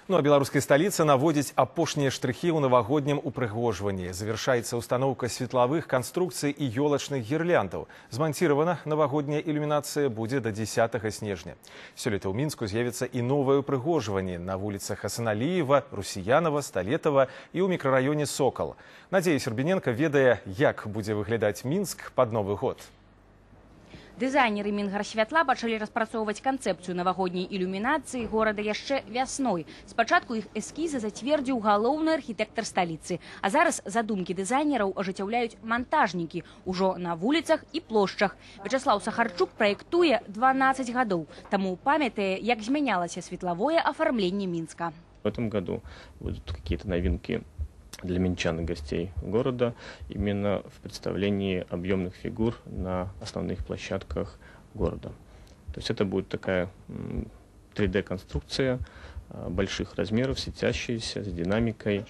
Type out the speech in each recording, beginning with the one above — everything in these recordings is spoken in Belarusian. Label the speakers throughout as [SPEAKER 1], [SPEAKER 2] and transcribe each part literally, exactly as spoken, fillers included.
[SPEAKER 1] Ну а беларускай сталіцы наводзіць апошнія штрыхі ў навагоднім упрыгожванні. Завяршаецца установка светлавых канструкцый і ёлачных гірляндаў. Зманціравана навагодняя ілюмінацыя будзе да дзесятага снежня. Сёлета ў Мінску з'явіцца і новае упрыгожванне на вуліцах Асаналіева, Русіянова, Сталетава і ў мікрараёне Сокал. Надзея Сербіненка ведае, як будзе выглядаць Мінск пад Новы год.
[SPEAKER 2] Дызайнеры Мінгарсвятла пачалі распрацоўваць канцэпцыю навагодняй ілюмінацыі горада яшчэ вясной. Спачатку іх эскізы зацвердзіў галоўны архітэктар сталіцы. А зараз задумкі дызайнераў ажыццяўляюць мантажнікі ўжо на вуліцах і плошчах. Вячаслаў Сахарчук праектуе дванаццаць гадоў, таму памятае, як змянялася светлавое афармленне Мінска.
[SPEAKER 3] В этом году будут какие-то новинки для минчан и гостей города именно в представлении объемных фигур на основных площадках города. То есть это будет такая три дэ-конструкция больших размеров, светящаяся, с динамикой.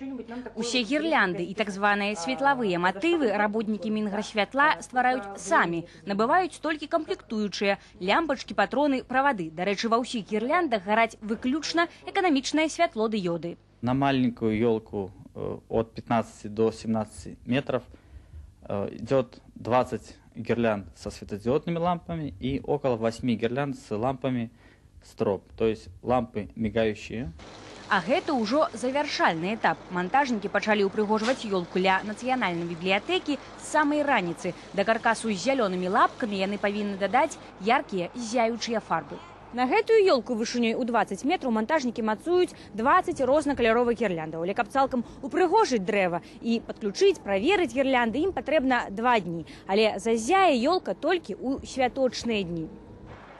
[SPEAKER 2] Усе гірлянды і так званыя светлавыя матывы работнікі Мінгарсвятла ствараюць самі, набываюць толькі камплектуючыя лямпачкі, патроны, правады. До рэчы, ва ўсіх гірляндах гараць выключна эканамічнае святло дыёды.
[SPEAKER 4] На маленькую елку от пятнадцати до семнадцати метров идет двадцать гирлянд со светодиодными лампами и около восьми гирлянд с лампами строп, то есть лампы мигающие.
[SPEAKER 2] А гэта ўжо завяршальны этап. Монтажнікі пачалі ўпрыгожваць ёлку ля нацыянальнай бібліятэкі з самай раніцы. Да каркасу з зялёнымі лапкамі яны павінны дадаць яркія ззяючыя фарбы. На гэтую ёлку вышынёй у двадцать метраў монтажнікі мацуюць двадцать рознакаляровых гірляндаў. Але каб цалкам упрыгожыць дрэва і падключыць, праверыць гірлянды, ім патрэбна два дні. Але зазяе ёлка толькі ў святочныя дні.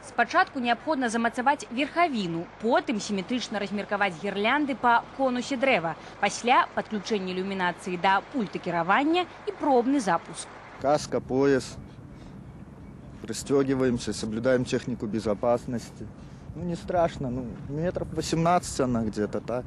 [SPEAKER 2] Спачатку неабходна замацаваць верхавіну, потым сіметрычна размеркаваць гірлянды па конусе дрэва. Пасля падключэння ілюмінацыі да пульта кіравання і пробны запуск.
[SPEAKER 5] Каска, пояс. Пристегиваемся, соблюдаем технику безопасности. Ну, не страшно, ну, метров восемнадцать она где-то так.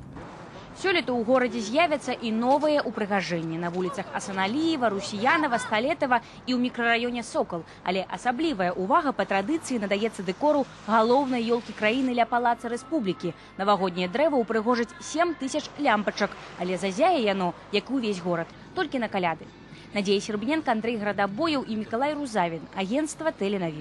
[SPEAKER 2] Сёлета ў горадзе з'явяцца і новыя упрыгажэнні на вуліцах Асаналіева, Русіянова, Сталетава і ў мікрараёне Сокал. Але асаблівая ўвага па традыцыі надаецца дэкору галоўнай ёлкі краіны ля палаца Рэспублікі. Навагодняе дрэва ўпрыгожыць сем тысяч лямпачак, але зазяе яно, як і ўвесь горад, толькі на каляды. Надзея Сербіненка, Андрэй Градабояў і Мікалай Рузавін. Агентства Тэленавін.